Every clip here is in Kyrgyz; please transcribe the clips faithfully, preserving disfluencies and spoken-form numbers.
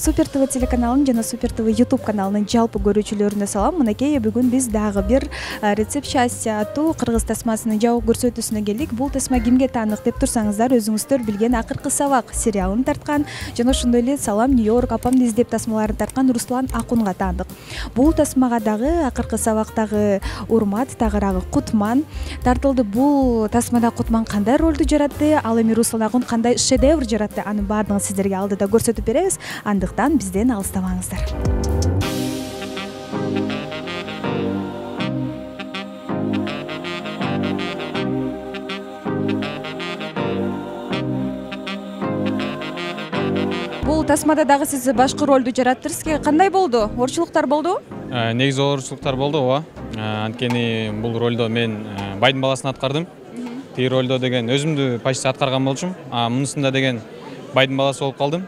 Супер ТВ телеканалынын жана Супер ТВ YouTube каналынын жалпы көрүүчүлөрүнө салам. Мынакей бүгүн биз дагы бир рецепт счастья аттуу кыргыз тасмасынын жабык көрсөтүүсүнө келдик. Бул тасма кимге таанык деп турсаңыздар, өзүңүздөр билген Акыркы сабак сериалын тарткан жана ошондой эле Салам Нью-Йорк апамды издеп тасмаларын тарткан Руслан Акунга таандык. Бул тасмага дагы Акыркы сабактагы Урмат, тагыраагы Кутман тартылды. Бул тасмада Кутман кандай ролду жаратты, ал эми Руслан Акун кандай шедевр жаратты, анын баардыгын сиздерге алдыда көрсөтүп беребиз. Андыктан бизден алыстабаңыздар. Бул тасмада дагы сиз башкы ролду жараттыңыз. Кандай болду? Орчулуктар болдубу? Негизи орчулуктар болду, ооба. Анткени бул ролдо мен байдын баласын аткардым. Тиги ролдо деген өзүмдү почти аткарган болчумун. А мунусунда деген байдын баласы болуп калдым.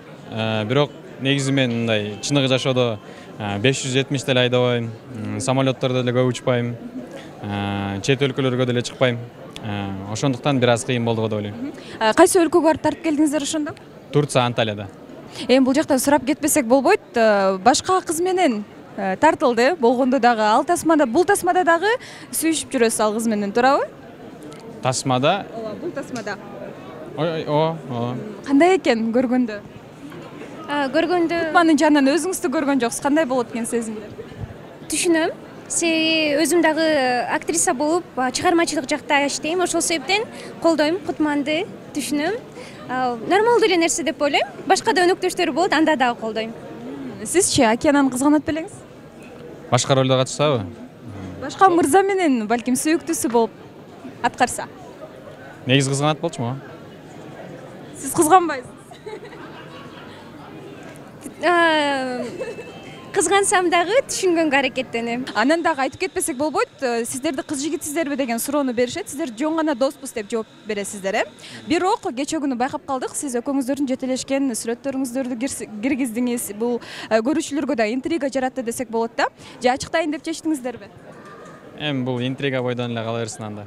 Бирок негизи мен мындай чыныгы жашоодо беш жүз жетимиш деле айдабайм, самолеттордо деле көп учпайм, чет өлкөлөргө деле чыкпайм. Ошондуктан бир аз кыйын болду го деп ойлойм. Кайсы өлкөгө барып тартып келдиңиздер ошондо? Турция, Анталияда. Эми бул жакта сурап кетпесек болбойт. Башка кыз менен тартылды болгондо дагы ал тасмада, бул тасмада дагы сүйүшүп жүрөсүз ал кыз менен, туурабы? Тасмада? Ооба, бул тасмада. Ой, ооба, ооба. Кандай экен көргөндө? Көргөндө Кутмандын жанынан өзүңүздү көргөн жоксуз. Кандай болот экен сезимдер? Түшүнөм. Себеби өзүм дагы актриса болуп, чыгармачылык жакта иштейм. Ошол себептен колдойм Кутманды, түшүнөм. Нормалдуу эле нерсе деп ойлойм. Башка да өнөктөштөрү болот, анда дагы колдойм. Сизчи Океананы кызганат белеңиз? Башка ролдо катышсабы? Башка мырза менен балким сүйүктүүсү болуп аткарса. Негизи кызганат болчумун. Сиз кызганбайсыз? Кызгансам дагы түшүнгөнгө аракеттенем. Анан дагы айтып кетпесек болбойт. Сиздерди кыз жигитсиздерби деген суроону беришет. Сиздер жөн гана доспуз деп жооп бересиздер, э? Бирок кечээ күнү байкап калдык, сиз экөөңүздөрдүн жетелешкен сүрөттөрүңүздөрдү киргиздиңиз. Бул көрүүчүлөргө да интрига жаратты десек болот да. Же ачыктайын деп чечтиңиздерби? Эми бул интрига бойдон эле кала берсин анда.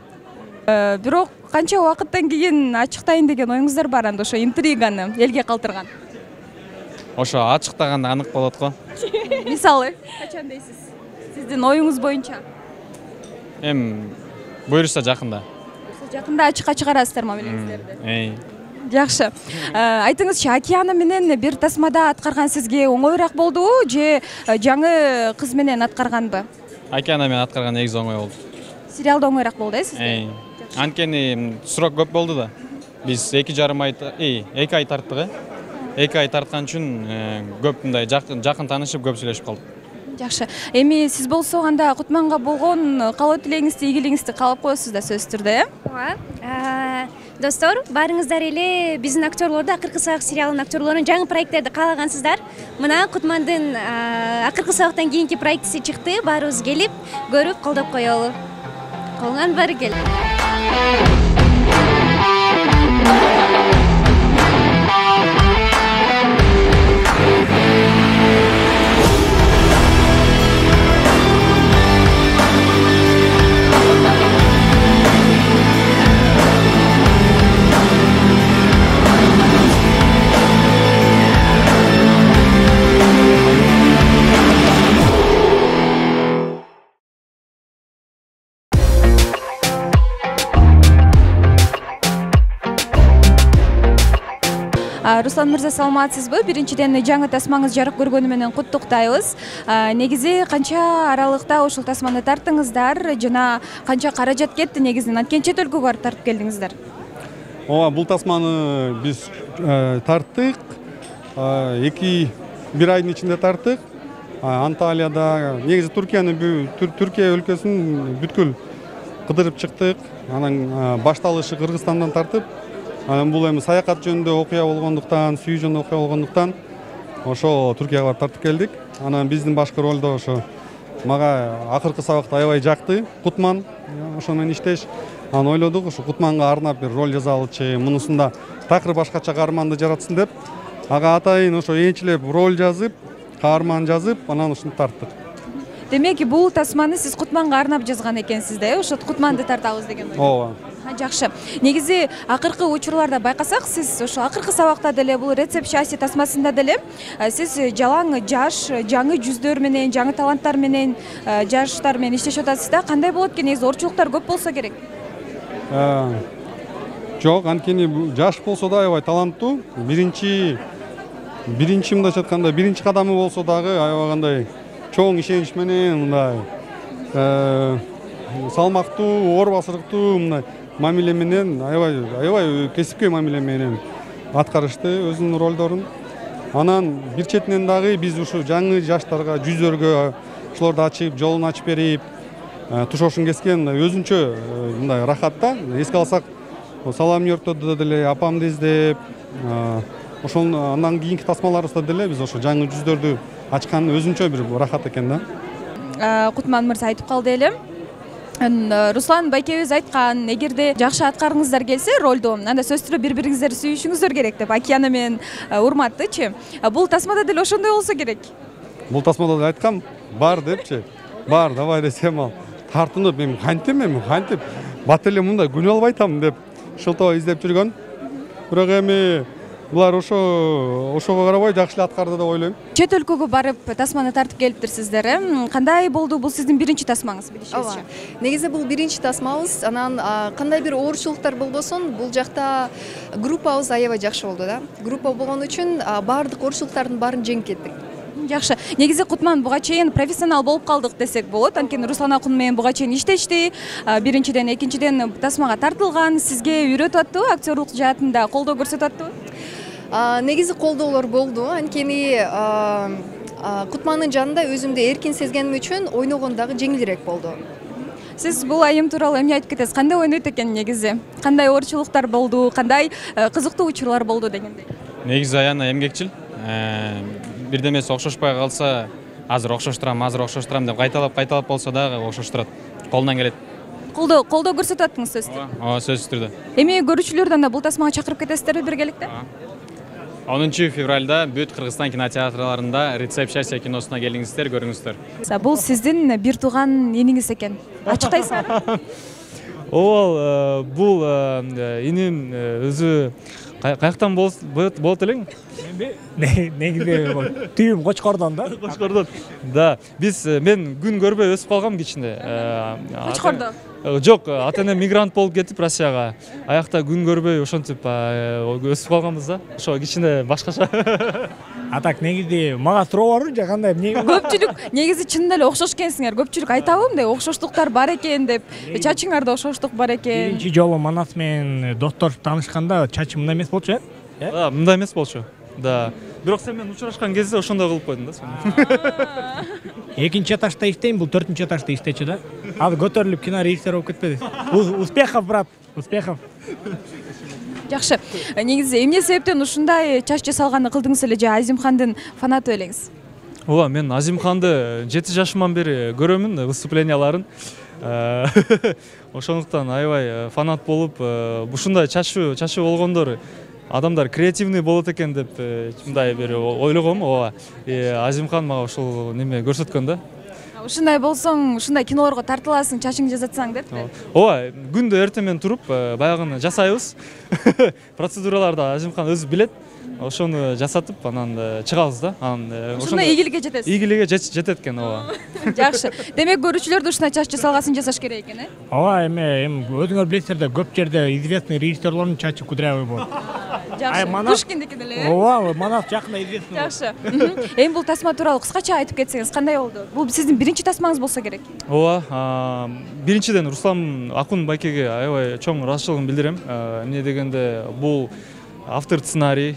Бирок канча убакыттан кийин ачыктайын деген оюңуздар бар анда ошо интриганы элге калтырган? Ошо ачыктаганда анык болот го. Мисалы, качан дейсиз? Сиздин оюңуз боюнча? Эми буюрса жакында. Жакында ачыкка чыгарасыздармы белеңиздерди? Эй. Жакшы. Айтыңызчы, Океана менен бир тасмада аткарган сизге оңоюраак болдубу же жаңы кыз менен аткарганбы? Океана менен аткарган негизи оңой болду. Сериалда оңоюраак болду, э, сизге? Эй. Анткени срок көп болду да. Биз эки жарым ай, эй, эки ай тарттык, э? эки ай тарткан үчүн көп мындай жакын таанышып, көп сүйлөшүп калдык. Жакшы. Эми сиз болсо анда Кутманга болгон каалоо тилегиңизди, ийгилигиңизди каалап коесуз да сөзсүз түрдө, э? Ооба. Достор, баарыңыздар эле биздин актерлорду, Акыркы сабак сериалынын актерлорун жаңы проекттерди каалагансыздар. Мына Кутмандын Акыркы сабактан кийинки проектиси чыкты. Баарыбыз келип, көрүп, колдоп коелу. Колуңан баары кел. Руслан мырза, саламатсызбы? Биринчиден жаңы тасмаңыз жарык көргөнү менен куттуктайбыз. Негизи канча аралыкта ушул тасманы тарттыңыздар жана канча каражат кетти негизинен? Анткени чет өлкөгө барып тартып келдиңиздер. Ооба, бул тасманы биз тарттык. эки бир айдын ичинде тарттык. Анталияда, негизи Туркияны, Түркия өлкөсүн бүткүл кыдырып чыктык. Анан башталышы Кыргызстандан тартып, анан бул эми саякат жөнүндө окуя болгондуктан, сүйүү жөнүндө окуя болгондуктан ошо Туркияга барып тартып келдик. Анан биздин башкы ролдо ошо мага Акыркы сабакта аябай жакты. Кутман, ошо менен иштеш. Анан ойлодук, ошо Кутманга арнап бир роль жазалычы, мунусунда такыр башкача каарманды жаратсын деп, ага атайын ошо энчилеп роль жазып, каарман жазып, анан ушуну тарттык. Демек, бул тасманы сиз Кутманга арнап жазган экенсиз да, э? Ошо Кутманды тартабыз деген ой. Ооба. Жакшы. Негизи акыркы учурларда байкасак, сиз ошо акыркы сабакта деле бул рецепт счастья тасмасында деле сиз жалаң жаш, жаңы жүздөр менен, жаңы таланттар менен, жаштар менен иштешип атасыз да. Кандай болот экен? Негизи орчулуктар көп болсо керек. Жок, анткени жаш болсо да аябай таланттуу. Биринчи биринчи мындайча айтканда биринчи кадамы болсо дагы аябай кандай чоң ишенич менен мындай салмактуу, оор басырыктуу мындай мамиле менен аябай аябай кесипкөй мамиле менен аткарышты өзүнүн ролдорун. Анан бир четинен дагы биз ушу жаңы жаштарга, жүздөргө ошолорду ачып, жолун ачып берип, тушошун кескен өзүнчө мындай рахат да. Эске алсак, Салам Йортодо деле апамды издеп, ошол андан кийинки тасмаларыбызда деле биз ошо жаңы жүздөрдү ачкан өзүнчө бир рахат экен да. Кутман мырза айтып калды эле. Руслан байкебиз айткан, эгерде жакшы аткаргыңыздар келсе ролду, анда сөзсүз түрдө бири-бириңиздерди сүйүшүңүздөр керек деп. Акияна менен Урматтычы. Бул тасмада деле ошондой болсо керек. Бул тасмада да айткам, бар депчи. Бар, давай десем ал. Тартынып, мен кантем, мен кантип бат эле мындай күнөө албай атам деп шылтоо издеп жүргөн. Бирок эми булар ошо ошого карабай жакшы эле аткарды деп ойлойм. Чет өлкөгө барып тасманы тартып келиптирсиздер. Кандай болду? Бул сиздин биринчи тасмаңыз билишибизче. Негизи бул биринчи тасмабыз. Анан кандай бир оорчулуктар болбосун, бул жакта группабыз аябай жакшы болду да. Группа болгон үчүн баардык оорчулуктардын баарын жеңип кеттик. Жакшы. Негизи Кутман буга чейин профессионал болуп калдык десек болот. Анткени Руслан Акун менен буга чейин иштешти. Биринчиден, экинчиден тасмага тартылган. Сизге үйрөтүп аттыбы, актерлук жаатында колдоо көрсөтүп аттыбы? Негизи колдоолор болду. Анткени Кутмандын жанында өзүмдү эркин сезгеним үчүн ойногон дагы жеңилирээк болду. Сиз бул айым тууралуу эмне айтып кетесиз? Кандай ойнойт экен негизи? Кандай оорчулуктар болду? Кандай кызыктуу учурлар болду дегендей? Негизи Аяна эмгекчил. Бирдемеси окшошпой калса, азыр окшоштурам, азыр окшоштурам деп кайталап кайталап болсо дагы окшоштурат. Колунан келет. Колдоо колдоо көрсөтүп аттыңыз сөзсүз түрдө. Ооба, сөзсүз түрдө. Эми көрүүчүлөрдү анда бул тасмага чакырып кетесиздерби биргеликте? онунчу февралда бүт Кыргызстан кинотеатрларында Рецепт счастья киносуна келиңиздер, көрүңүздөр. Бул сиздин бир тууган иниңиз экен. Ачыктайсызбы? Ооба, бул иним өзү каяктан болот элең? Негизи түйүм Кочкордон да. Кочкордон. Да, биз мен күн көрбөй өсүп калгам кичинде. Кочкордо? Жок, ата-эне мигрант болуп кетип Россияга. Аякта күн көрбөй ошентип өсүп калганбыз да. Ошо кичинде башкача. А так негизи мага суроо барбы же кандай? Көпчүлүк негизи чынында эле окшош экенсиңер. Көпчүлүк айтабы мындай окшоштуктар бар экен деп. Чачыңарда окшоштук бар экен. Биринчи жолу Манас менен достор таанышканда чачым мындай эмес болчу, э? Да, мындай эмес болчу. Да. Бирок сен менен учурашкан кезде ошондой кылып койдуң да сен. Экинчи этажда иштейм, бул төртүнчү этажда иштечү да. Азыр көтөрүлүп кино режиссер болуп кетпеди. Успехов, брат, успехов. Жакшы. Негизи эмне себептен ушундай чач жасалганды кылдыңыз эле же Азимхандын фанаты элеңиз? Ооба, мен Азимханды жети жашыман бери көрөмүн выступленияларын. Ошондуктан аябай фанат болуп, ушундай чачуу чачуу болгондор адамдар креативный болот экен деп мындай бир ойлогом. Ооба. Азимхан мага ушул неме көрсөткөн да. Ушундай болсоң, ушундай кинолорго тартыласың, чачыңды жасатсаң деппи? Ооба, күндө эртең туруп, баягыны жасайбыз. Процедураларды Азимхан өзү билет. Ошону жасатып, анан чыгабыз да. Анан ошондой ийгиликке жетесиз. Ийгиликке жетет экен, ооба. Жакшы. Демек көрүүчүлөрдү ушундай чач жасалгасын жасаш керек экен, э? Ооба, эми эми өзүңөр билесиздер да, көп жерде известный режиссерлордун чачы кудрявый болот. Жакшы. Пушкиндики деле, э? Ооба, Манас жакында известный. Жакшы. Эми бул тасма тууралуу кыскача айтып кетсеңиз, кандай болду? Бул сиздин биринчи тасмаңыз болсо керек. Ооба, биринчиден Руслан Акун байкеге аябай чоң ыраазычылыгымды билдирем. Эмне дегенде бул автор сценарий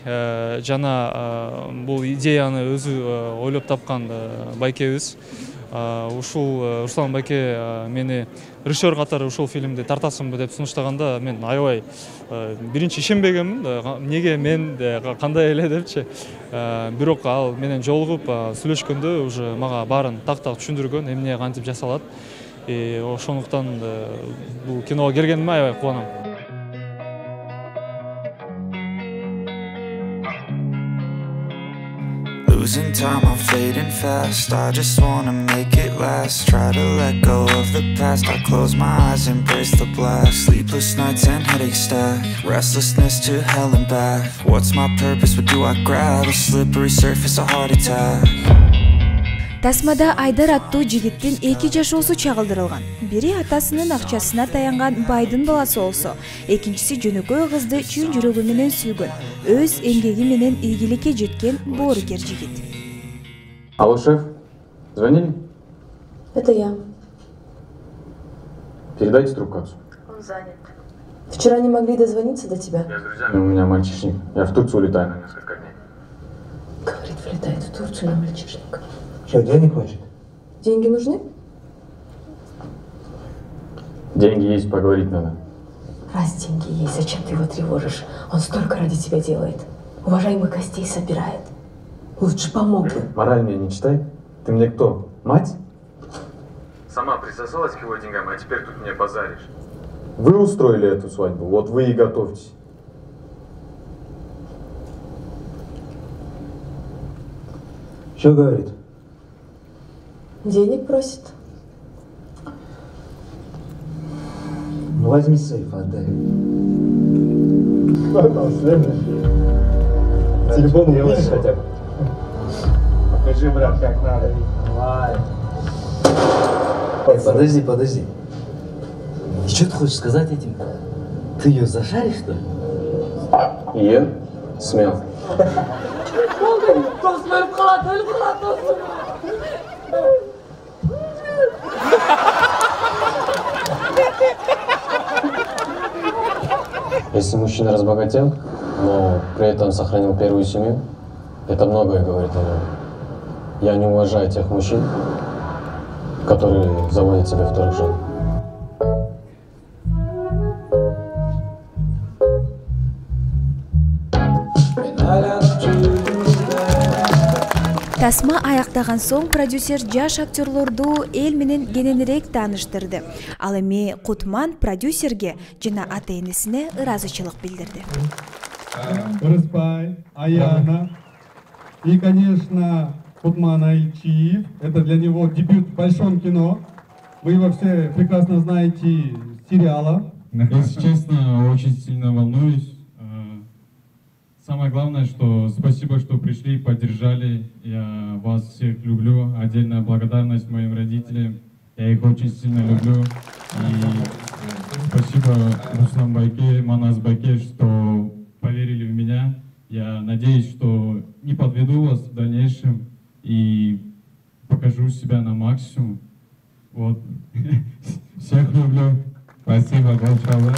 жана бул идеяны өзү ойлоп тапкан байкебиз. Ушул Руслан байке мени режиссер катары ушул фильмди тартасыңбы деп сунуштаганда мен аябай биринчи ишенбегенмин. Эмнеге мен кандай эле депчи. Бирок ал менен жолугуп сүйлөшкөндө уже мага баарын так-так түшүндүргөн, эмне кантип жасалат. Ошондуктан бул киного келгениме аябай кубанам. Losing time, I'm fading fast. I just wanna make it last. Try to let go of the past. I close my eyes, embrace the blast. Sleepless nights and headaches stack. Restlessness to hell and back. What's my purpose? What do I grab? A slippery surface, a heart attack. Тасмада Айдар аттуу жигиттин эки жашоосу чагылдырылган. Бири атасынын акчасына таянган байдын баласы болсо, экинчиси жөнөкөй кызды чын жүрөгү менен сүйгөн, өз эмгеги менен ийгиликке жеткен боорукер жигит. Алло, шеф, звонили? Это я. Передайте трубку отцу. Он занят. Вчера не могли дозвониться до тебя? Я с друзьями, у меня мальчишник. Я в Турцию улетаю на несколько дней. Говорит, вылетает в Турцию на мальчишник. Что, денег хочет? Деньги нужны? Деньги есть, поговорить надо. Раз деньги есть, зачем ты его тревожишь? Он столько ради тебя делает. Уважаемых гостей собирает. Лучше помог бы. Мораль мне не читай. Ты мне кто? Мать? Сама присосалась к его деньгам, а теперь тут мне базаришь. Вы устроили эту свадьбу, вот вы и готовьтесь. Что говорит? Денег просит. Ну возьми сейф, отдай. Телефон увидишь хотя бы? Покажи, брат, как надо. Давай. Подожди, подожди. И что ты хочешь сказать этим? Ты ее зашаришь, что ли? Ее? Смел. Если мужчина разбогател, но при этом сохранил первую семью, это многое говорит о нем. Я не уважаю тех мужчин, которые заводят себе вторых жен. Тасма аяктаган соң продюсер жаш актерлорду эл менен кененирээк тааныштырды. Ал эми Кутман продюсерге жана ата-энесине ыраазычылык билдирди. Рыспай, Аяна и, конечно, Кутман Айчиев. Это для него дебют в большом кино. Вы его все прекрасно знаете с сериала. Если честно, очень сильно волнуюсь. Самое главное, что спасибо, что пришли и поддержали. Я вас всех люблю. Отдельная благодарность моим родителям. Я их очень сильно люблю. И спасибо Руслан Байке, Манас Байке, что поверили в меня. Я надеюсь, что не подведу вас в дальнейшем и покажу себя на максимум. Вот. Всех люблю. Спасибо большое.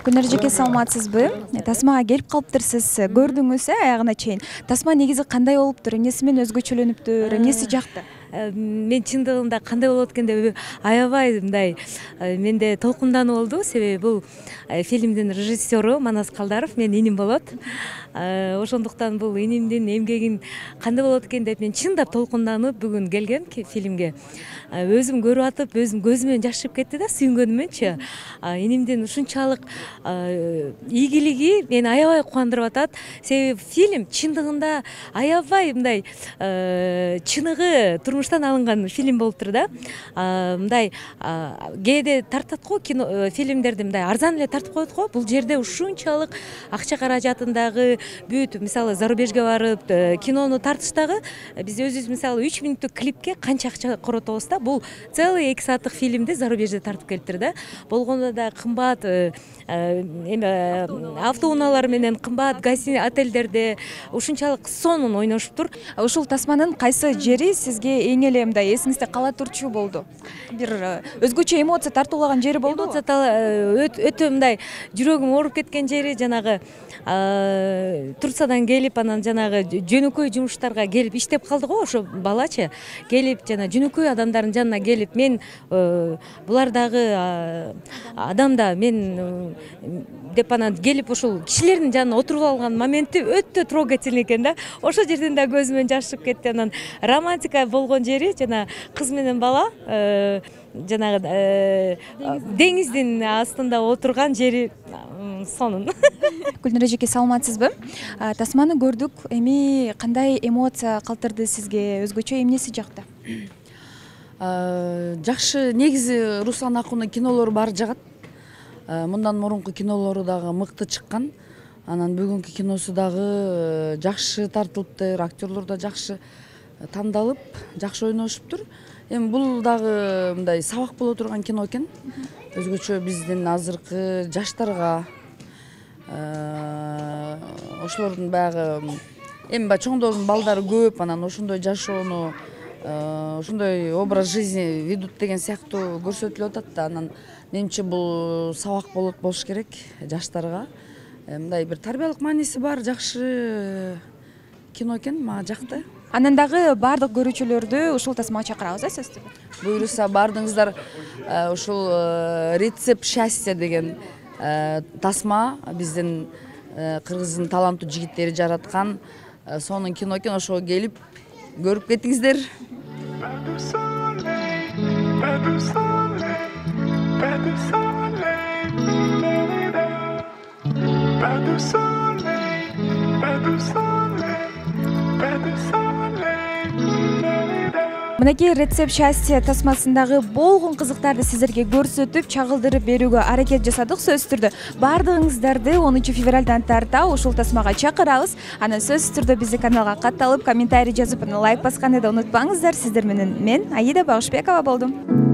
Күнөр жеке саламатсызбы? Тасмага келип калыптырсыз, көрдүңүз аягына чейин. Тасма негизи кандай болуптур? Эмнеси менен өзгөчөлөнүптүр? Эмнеси жакты? Мен чындыгында кандай болот экен деп аябай мындай менде толкундануу болду. Себеби бул фильмдин режиссеру Манас Калдаров, мен иним болот. Ошондуктан бул инимдин эмгегин кандай болот экен деп мен чындап толкунданып бүгүн келгем фильмге. Өзүм көрүп атып, өзүм көзүмөн жаш чыгып кетти да, сүйүнгөнүмөнчү. Инимдин ушунчалык ийгилиги мени аябай кубандырып атат. Себеби фильм чындыгында аябай мындай чыныгы турмуштан алынган фильм болуптур да. Мындай кээде тартат го кино фильмдерди мындай арзан эле тартып коет го. Бул жерде ушунчалык акча каражатындагы бүт, мисалы зарубежге барып кинону тартыштагы биз өзүбүз мисалы үч мүнөттүк клипке канча акча коротобуз да. Бул целый эки сааттык фильмди зарубежде тартып келиптир да. Болгондо да кымбат эме автоунаалар менен кымбат гостиница отелдерде ушунчалык сонун ойношуптур. Ушул Тасманын кайсы жери сизге эң эле мындай эсиңизде кала турчу болду? Бир өзгөчө эмоция тартуулаган жери болдубу? Өтө мындай жүрөгүм ооруп кеткен жери жанагы Турциядан келип, анан жанагы жөнөкөй жумуштарга келип иштеп калды го, ошо балачы келип жана жөнөкөй адамдардын жанына келип, мен булардагы адамда мен деп анан келип ошол кишилердин жанына отуруп алган моменти өтө трогательный экен да. Ошол жерден да көзүмөн жаш чыгып кетти. Анан романтика болгон болгон жери жана кыз менен бала жанагы деңиздин астында отурган жери сонун. Гүлнур эжеке, саламатсызбы? Тасманы көрдүк, эми кандай эмоция калтырды сизге, өзгөчө эмнеси жакты? Жакшы, негизи Руслан Акундун кинолору баары жагат. Мындан мурунку кинолору дагы мыкты чыккан. Анан бүгүнкү киносу дагы жакшы тартылыптыр, актерлор да жакшы тандалып, жакшы ойношуптур. Эми бул дагы мындай сабак боло турган кино экен. Өзгөчө биздин азыркы жаштарга, ошолордун баягы эми баягы чоңдордун балдары көп, анан ошондой жашоону, ошондой образ жизни ведут деген сыяктуу көрсөтүлүп атат да. Анан менимче бул сабак болот болуш керек жаштарга. Мындай бир тарбиялык мааниси бар, жакшы кино экен, мага жакты. Анан дагы бардык көрүүчүлөрдү ушул тасмага чакырабыз, э, сөзсүз. Буюрса бардыгыңыздар ушул «Рецепт счастья» деген тасма биздин кыргыздын таланттуу жигиттери жараткан сонун кино экен. Ошого келип көрүп кетиңиздер. Мынакей «Рецепт счастья» тасмасындагы болгон кызыктарды сиздерге көрсөтүп, чагылдырып берүүгө аракет жасадык. Сөзсүз түрдө бардыгыңыздарды онунчу февралдан тарта ушул тасмага чакырабыз. Анан сөзсүз түрдө биздин каналга катталып, комментарий жазып, лайк басканды да унутпаңыздар. Сиздер менен мен Аида Багышбекова болдум.